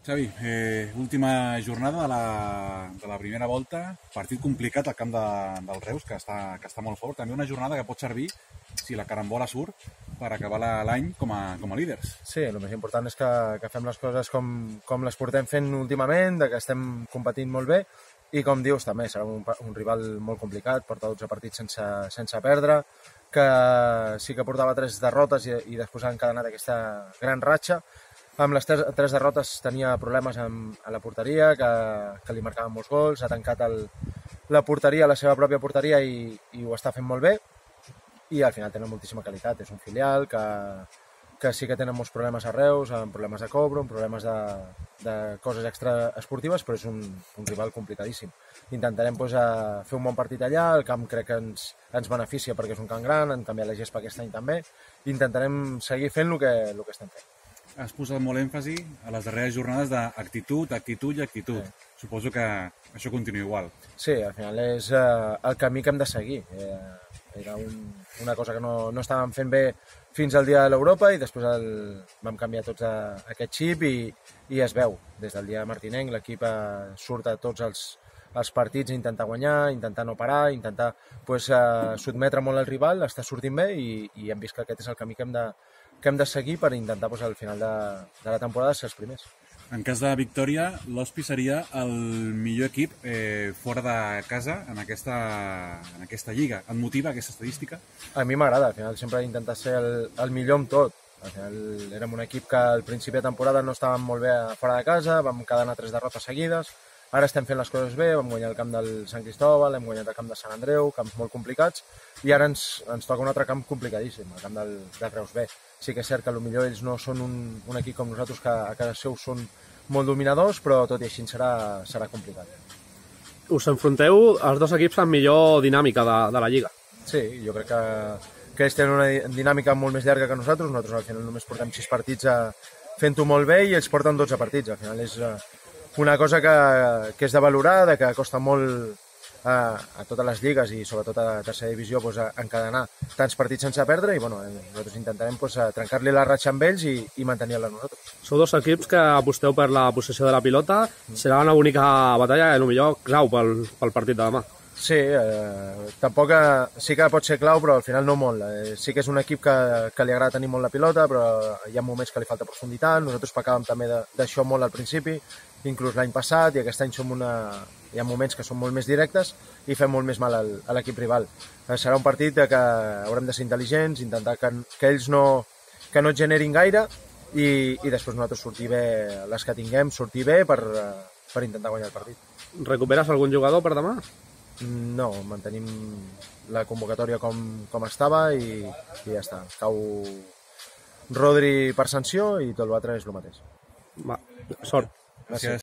Xavi, última jornada de la primera volta, partit complicat al camp del Reus, que està molt fort. També una jornada que pot servir, si la carambola surt, per acabar l'any com a líders. Sí, el més important és que fem les coses com les portem fent últimament, que estem competint molt bé, i com dius també, serà un rival molt complicat, porta 12 partits sense perdre, que sí que portava 3 derrotes i després ha encadenat aquesta gran ratxa. Amb les 3 derrotes tenia problemes a la porteria, que li marcaven molts gols, ha tancat la porteria, la seva pròpia porteria, i ho està fent molt bé, i al final tenen moltíssima qualitat. És un filial que sí que tenen molts problemes a Reus, amb problemes de cobro, amb problemes de coses extraesportives, però és un rival complicadíssim. Intentarem fer un bon partit allà, el camp crec que ens beneficia perquè és un camp gran, han canviat la gespa aquest any també, i intentarem seguir fent el que estem fent. Has posat molt èmfasi a les darreres jornades d'actitud, actitud i actitud. Sí. Suposo que això continua igual. Sí, al final és el camí que hem de seguir. Era una cosa que no estàvem fent bé fins al dia de l'Europa i després vam canviar tots aquest xip i es veu. Des del dia de Martinenc l'equip surt a tots els partits a intentar guanyar, intentar no parar, intentar sotmetre molt el rival, està sortint bé i hem vist que aquest és el camí que hem de seguir per intentar al final de la temporada ser els primers. En cas de victòria, l'Hospi seria el millor equip fora de casa en aquesta lliga. Et motiva aquesta estadística? A mi m'agrada, al final sempre he intentat ser el millor amb tot. Al final érem un equip que al principi de temporada no estàvem molt bé fora de casa, vam cadenar 3 derrotes seguides, ara estem fent les coses bé, vam guanyar el camp del Sant Cristóbal, hem guanyat el camp de Sant Andreu, camps molt complicats, i ara ens toca un altre camp complicadíssim, el camp del Reus B. Sí que és cert que potser ells no són un equip com nosaltres, que a casa seu són molt dominadors, però tot i així serà complicat. Us enfronteu els dos equips amb millor dinàmica de la Lliga. Sí, jo crec que ells tenen una dinàmica molt més llarga que nosaltres al final només portem 6 partits fent-ho molt bé i ells porten 12 partits. Al final és una cosa que és de valorar, que costa molt a totes les lligues i sobretot a tercera divisió encadenar tants partits sense perdre i nosaltres intentarem trencar-li la ratxa amb ells i mantenir-la nosaltres. Sou dos equips que aposteu per la possessió de la pilota, serà una bonica batalla i potser clau pel partit de demà. Sí, tampoc sí que pot ser clau, però al final no molt. Sí que és un equip que li agrada tenir molt la pilota, però hi ha moments que li falta profunditat. Nosaltres pecàvem també d'això molt al principi, inclús l'any passat, i aquest any hi ha moments que són molt més directes i fem molt més mal a l'equip rival. Serà un partit que haurem de ser intel·ligents, intentar que ells no generin gaire i després nosaltres sortir bé, les que tinguem, sortir bé per intentar guanyar el partit. Recuperes algun jugador per demà? No, mantenim la convocatòria com estava i ja està. Cau Rodri per sanció i tot l'altre és el mateix. Va, sort. Gràcies.